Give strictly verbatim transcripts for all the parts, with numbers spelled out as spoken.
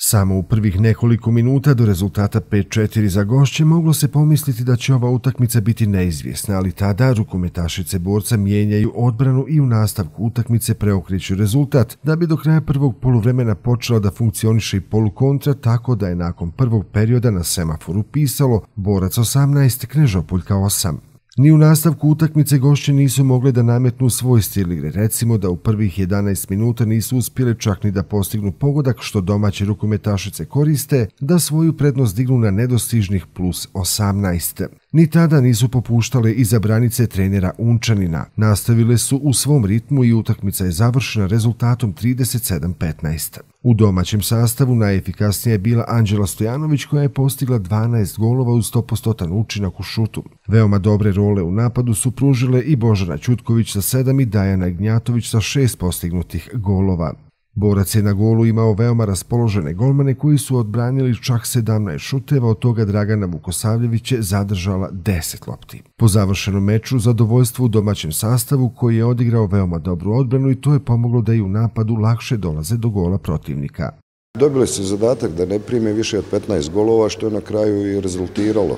Samo u prvih nekoliko minuta do rezultata pet četiri za gošće moglo se pomisliti da će ova utakmica biti neizvjesna, ali tada rukometašice Borca mijenjaju odbranu i u nastavku utakmice preokreću rezultat, da bi do kraja prvog poluvremena počela da funkcioniše i polukontra, tako da je nakon prvog perioda na semaforu pisalo Borac osamnaest, Knežopoljka osam. Ni u nastavku utakmice gošće nisu mogle da nametnu svoj stil igre, recimo da u prvih jedanaest minuta nisu uspjele čak ni da postignu pogodak što domaće rukometašice koriste, da svoju prednost dignu na nedostižnih plus osamnaest. Ni tada nisu popuštale iza branice trenera Unčanina. Nastavile su u svom ritmu i utakmica je završena rezultatom trideset sedam petnaest. U domaćem sastavu najefikasnija je bila Anđela Stojanović koja je postigla dvanaest golova uz sto posto učinak u šutu. Veoma dobre role u napadu su pružile i Božana Ćutković sa sedam i Dajana Ignjatović sa šest postignutih golova. Borac je na golu imao veoma raspoložene golmane koji su odbranili čak sedamnaest šuteva, od toga Dragana Vukosavljević je zadržala deset lopti. Po završenom meču zadovoljstvo u domaćem sastavu koji je odigrao veoma dobru odbranu i to je pomoglo da i u napadu lakše dolaze do gola protivnika. Dobili su zadatak da ne prime više od petnaest golova, što je na kraju i rezultiralo.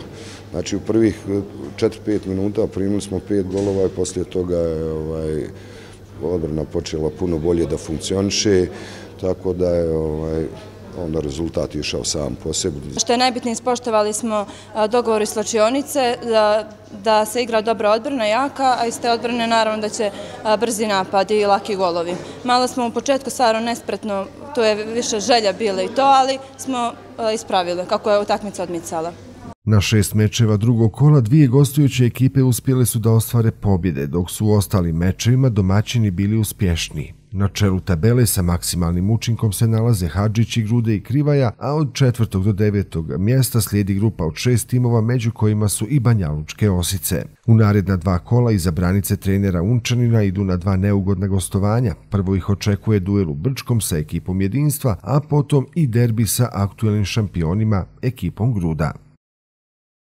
Znači u prvih četiri pet minuta primili smo pet golova i poslije toga je ovaj, odbrana počela puno bolje da funkcioniše, tako da je ovaj, onda rezultat išao sam po sebi. Što je najbitnije, ispoštovali smo dogovor iz slačionice da, da se igra dobra odbrana, jaka, a iz te odbrane naravno da će brzi napad i laki golovi. Malo smo u početku stvarno nespretno, to je više želja bila i to, ali smo ispravili kako je utakmica odmicala. Na šest mečeva drugog kola dvije gostujuće ekipe uspjele su da ostvare pobjede, dok su u ostalim mečevima domaćini bili uspješniji. Na čelu tabele sa maksimalnim učinkom se nalaze Hadžić i Grude i Krivaja, a od četvrtog do devetog mjesta slijedi grupa od šest timova, među kojima su i Banjalučke Osice. U naredna dva kola iza branice trenera Unčanina idu na dva neugodna gostovanja. Prvo ih očekuje duel u Brčkom sa ekipom Jedinstva, a potom i derbi sa aktuelnim šampionima ekipom Gruda.